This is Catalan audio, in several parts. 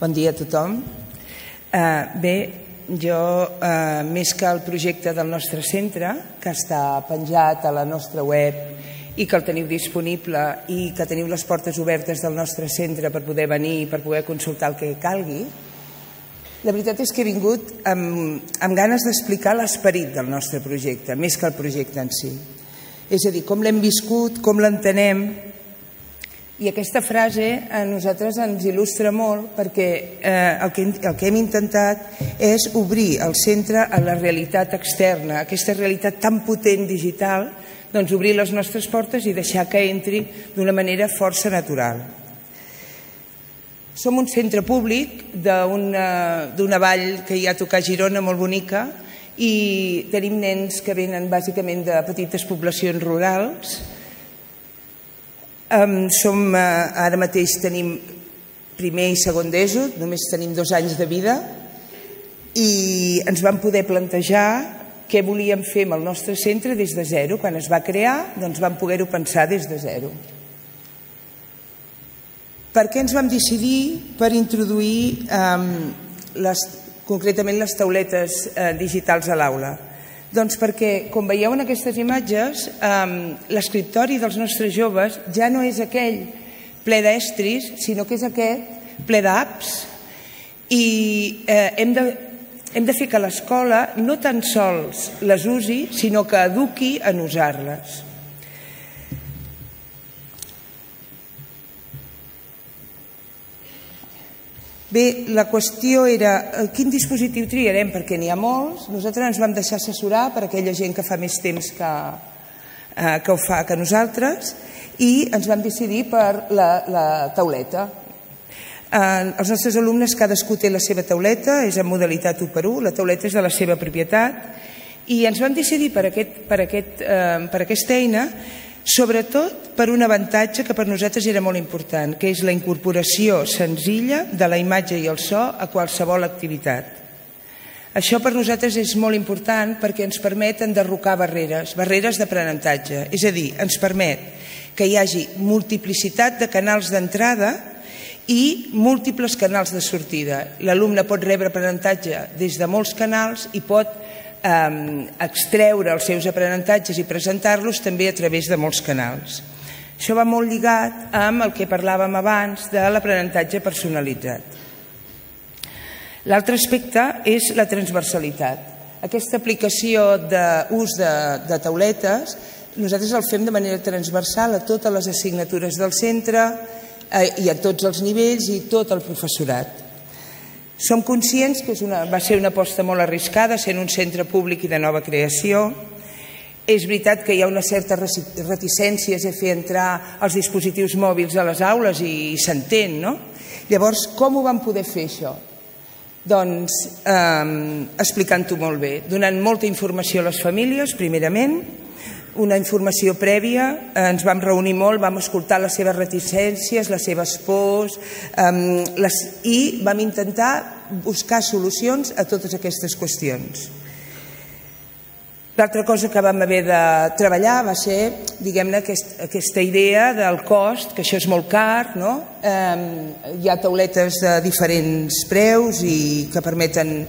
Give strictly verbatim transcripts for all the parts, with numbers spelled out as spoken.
Bon dia a tothom. Bé, jo, més que el projecte del nostre centre, que està penjat a la nostra web i que el teniu disponible i que teniu les portes obertes del nostre centre per poder venir i per poder consultar el que calgui, la veritat és que he vingut amb ganes d'explicar l'esperit del nostre projecte, més que el projecte en si. És a dir, com l'hem viscut, com l'entenem. I aquesta frase a nosaltres ens il·lustra molt perquè el que hem intentat és obrir el centre a la realitat externa, aquesta realitat tan potent digital, doncs obrir les nostres portes i deixar que entri d'una manera força natural. Som un centre públic d'una vall que hi ha a tocar a Girona molt bonica i tenim nens que venen bàsicament de petites poblacions rurals. Som, ara mateix tenim primer i segon d'ESO, només tenim dos anys de vida i ens vam poder plantejar què volíem fer amb el nostre centre des de zero. Quan es va crear, doncs vam poder-ho pensar des de zero. Per què ens vam decidir per introduir concretament les tauletes digitals a l'aula? Doncs perquè, com veieu en aquestes imatges, l'escriptori dels nostres joves ja no és aquell ple d'estris, sinó que és aquest ple d'apps. I hem de fer que l'escola no tan sols les usi, sinó que eduqui en usar-les. Bé, la qüestió era quin dispositiu triarem, perquè n'hi ha molts. Nosaltres ens vam deixar assessorar per aquella gent que fa més temps que ho fa que nosaltres i ens vam decidir per la tauleta. Els nostres alumnes, cadascú té la seva tauleta, és en modalitat u per u, la tauleta és de la seva propietat i ens vam decidir per aquesta eina sobretot per un avantatge que per nosaltres era molt important, que és la incorporació senzilla de la imatge i el so a qualsevol activitat. Això per nosaltres és molt important perquè ens permet enderrocar barreres, barreres d'aprenentatge, és a dir, ens permet que hi hagi multiplicitat de canals d'entrada i múltiples canals de sortida. L'alumne pot rebre aprenentatge des de molts canals i pot extreure els seus aprenentatges i presentar-los també a través de molts canals. Això va molt lligat amb el que parlàvem abans de l'aprenentatge personalitzat. L'altre aspecte és la transversalitat. Aquesta aplicació d'ús de tauletes nosaltres el fem de manera transversal a totes les assignatures del centre i a tots els nivells i tot el professorat. Som conscients que va ser una aposta molt arriscada, sent un centre públic i de nova creació. És veritat que hi ha una certa reticència a fer entrar els dispositius mòbils a les aules i s'entén, no? Llavors, com ho vam poder fer, això? Doncs explicant-ho molt bé, donant molta informació a les famílies, primerament, una informació prèvia, ens vam reunir molt, vam escoltar les seves reticències, les seves pors i vam intentar buscar solucions a totes aquestes qüestions. L'altra cosa que vam haver de treballar va ser, diguem-ne, aquesta idea del cost, que això és molt car, no? Hi ha tauletes de diferents preus i que permeten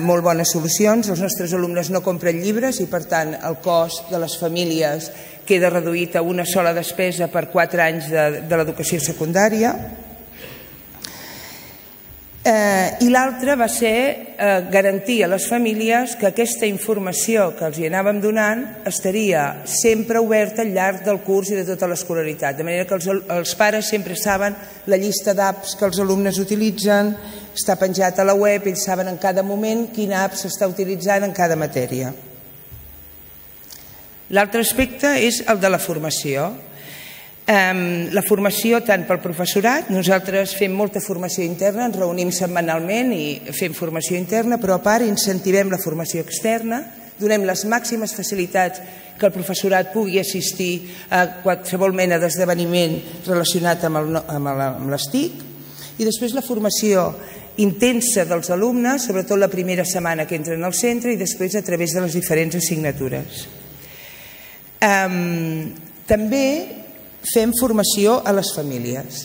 molt bones solucions. Els nostres alumnes no compren llibres i, per tant, el cost de les famílies queda reduït a una sola despesa per quatre anys de l'educació secundària. I l'altre va ser garantir a les famílies que aquesta informació que els hi anàvem donant estaria sempre oberta al llarg del curs i de tota l'escolaritat, de manera que els pares sempre saben la llista d'apps que els alumnes utilitzen, està penjat a la web, ells saben en cada moment quina app s'està utilitzant en cada matèria. L'altre aspecte és el de la formació. La formació tant pel professorat, nosaltres fem molta formació interna, ens reunim setmanalment i fem formació interna, però a part incentivem la formació externa, donem les màximes facilitats que el professorat pugui assistir a qualsevol mena d'esdeveniment relacionat amb les T I C, i després la formació intensa dels alumnes, sobretot la primera setmana que entren al centre i després a través de les diferents assignatures. També fem formació a les famílies.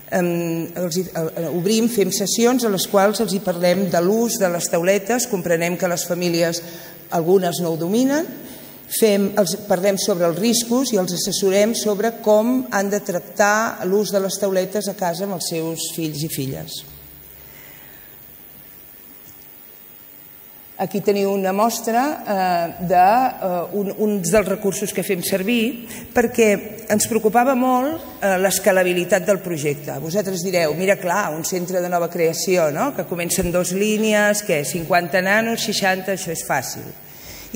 obrim, fem sessions a les quals els hi parlem de l'ús de les tauletes, comprenem que les famílies, algunes no ho dominen, parlem sobre els riscos i els assessorem sobre com han de tractar l'ús de les tauletes a casa amb els seus fills i filles. Aquí teniu una mostra d'un dels recursos que fem servir perquè ens preocupava molt l'escalabilitat del projecte. Vosaltres direu, mira clar, un centre de nova creació, que comença en dues línies, que cinquanta nanos, seixanta, això és fàcil.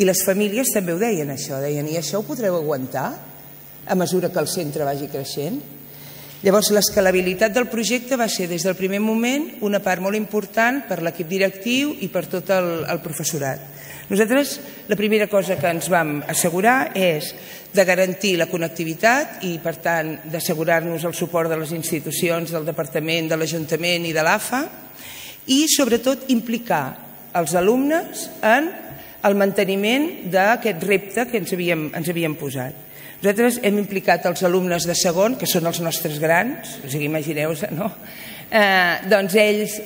I les famílies també ho deien, això. Deien, i això ho podreu aguantar a mesura que el centre vagi creixent? Llavors, l'escalabilitat del projecte va ser, des del primer moment, una part molt important per l'equip directiu i per tot el professorat. Nosaltres, la primera cosa que ens vam assegurar és de garantir la connectivitat i, per tant, d'assegurar-nos el suport de les institucions, del Departament, de l'Ajuntament i de l'A F A, i, sobretot, implicar els alumnes en el manteniment d'aquest repte que ens havíem posat. Nosaltres hem implicat els alumnes de segon, que són els nostres grans, o sigui, imagineu-vos, no? Doncs ells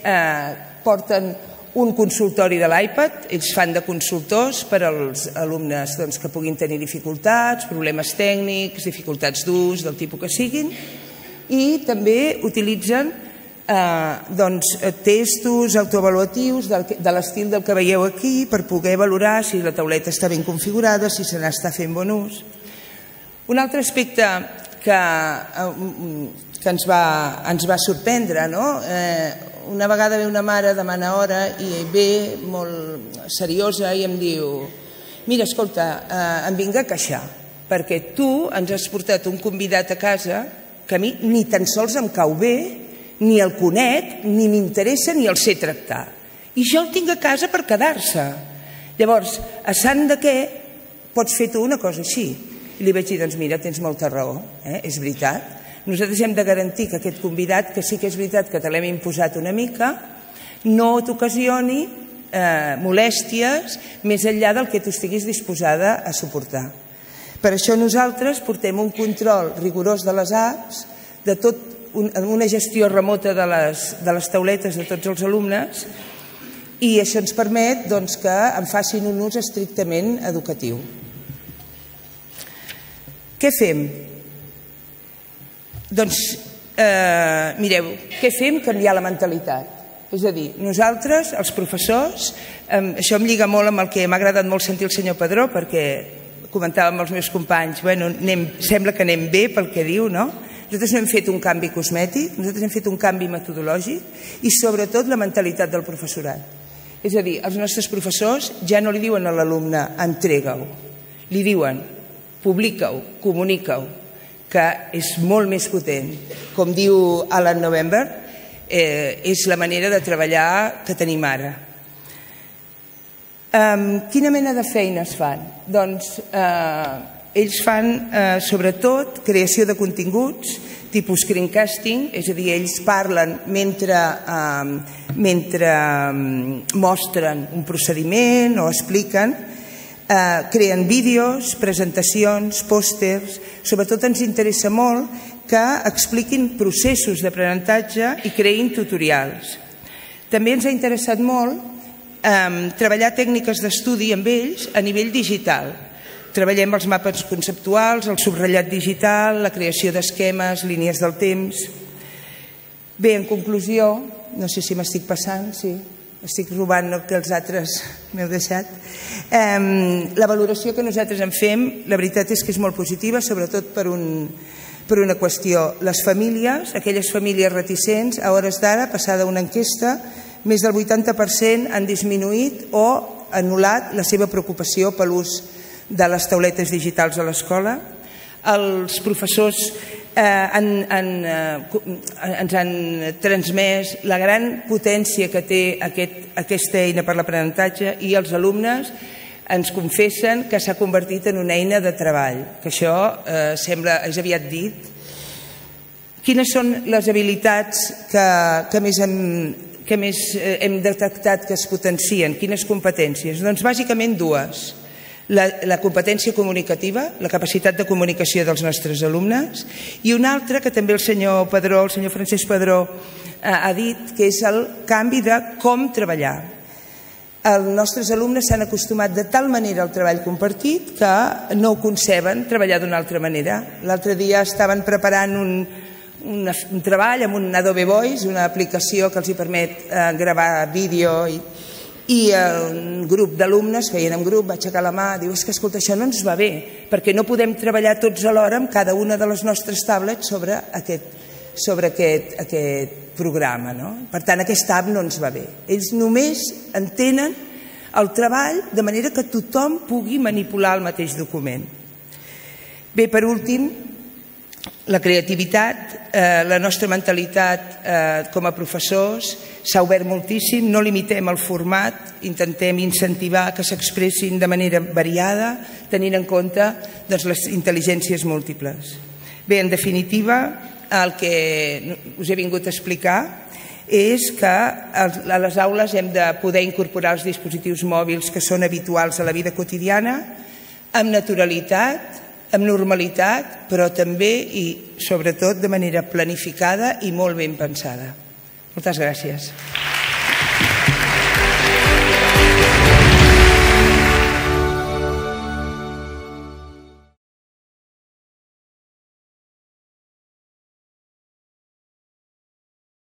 porten un consultori de l'iPad, ells fan de consultors per als alumnes que puguin tenir dificultats, problemes tècnics, dificultats d'ús, del tipus que siguin, i també utilitzen testos autoavaluatius de l'estil del que veieu aquí per poder valorar si la tauleta està ben configurada, si se n'està fent bon ús. Un altre aspecte que ens va sorprendre, una vegada ve una mare, demana hora i ve molt seriosa i em diu, mira, escolta, em vinc a queixar perquè tu ens has portat un convidat a casa que a mi ni tan sols em cau bé, ni el conec, ni m'interessa, ni el sé tractar. I jo el tinc a casa per quedar-se. Llavors, a sant de què pots fer tu una cosa així? I li vaig dir, doncs mira, tens molta raó, és veritat. Nosaltres hem de garantir que aquest convidat, que sí que és veritat que te l'hem imposat una mica, no t'ocasioni molèsties més enllà del que tu estiguis disposada a suportar. Per això nosaltres portem un control rigorós de les apps, de tot, una gestió remota de les tauletes de tots els alumnes, i això ens permet que en facin un ús estrictament educatiu. Què fem? Doncs, mireu, què fem? Canviar la mentalitat. És a dir, nosaltres, els professors, això em lliga molt amb el que m'ha agradat molt sentir el senyor Padró, perquè comentava amb els meus companys, bueno, sembla que anem bé pel que diu, no? Nosaltres no hem fet un canvi cosmètic, nosaltres hem fet un canvi metodològic i sobretot la mentalitat del professorat. És a dir, els nostres professors ja no li diuen a l'alumne entrega-ho, li diuen publica-ho, comunica-ho, que és molt més potent. Com diu Alan November, és la manera de treballar que tenim ara. Quina mena de feines fan? Doncs ells fan sobretot creació de continguts, tipus screencasting, és a dir, ells parlen mentre mostren un procediment o expliquen, creen vídeos, presentacions, pòsters. Sobretot ens interessa molt que expliquin processos d'aprenentatge i creïn tutorials. També ens ha interessat molt treballar tècniques d'estudi amb ells a nivell digital. Treballem els mapes conceptuals, el subratllat digital, la creació d'esquemes, línies del temps. Bé, en conclusió, no sé si m'estic passant, sí, estic robant el que els altres m'heu deixat. La valoració que nosaltres en fem, la veritat és que és molt positiva, sobretot per una qüestió. Les famílies, aquelles famílies reticents, a hores d'ara, passada una enquesta, més del vuitanta per cent han disminuït o anul·lat la seva preocupació per l'ús de les tauletes digitals a l'escola. Els professors ens han transmès la gran potència que té aquesta eina per l'aprenentatge i els alumnes ens confessen que s'ha convertit en una eina de treball, que això sembla, és aviat dit. Quines són les habilitats que més hem detectat que es potencien? Quines competències? Doncs bàsicament dues. La, la competència comunicativa, la capacitat de comunicació dels nostres alumnes, i un altre que també el senyor Padró, el senyor Francesc Padró eh, ha dit, que és el canvi de com treballar. Els nostres alumnes s'han acostumat de tal manera al treball compartit que no ho conceben treballar d'una altra manera. L'altre dia estaven preparant un, un, un treball amb un Adobe Voice, una aplicació que els hi permet eh, gravar vídeo i i un grup d'alumnes, feien en grup, va aixecar la mà, diu, és que escolta, això no ens va bé, perquè no podem treballar tots alhora amb cada una de les nostres tablets sobre aquest, sobre aquest, aquest programa, no? Per tant, aquesta app no ens va bé. Ells només entenen el treball de manera que tothom pugui manipular el mateix document. Bé, per últim, la creativitat, eh, la nostra mentalitat eh, com a professors s'ha obert moltíssim, no limitem el format, intentem incentivar que s'expressin de manera variada, tenint en compte doncs, les intel·ligències múltiples. Bé, en definitiva, el que us he vingut a explicar és que a les aules hem de poder incorporar els dispositius mòbils que són habituals a la vida quotidiana, amb naturalitat, amb normalitat, però també i sobretot de manera planificada i molt ben pensada. Moltes gràcies.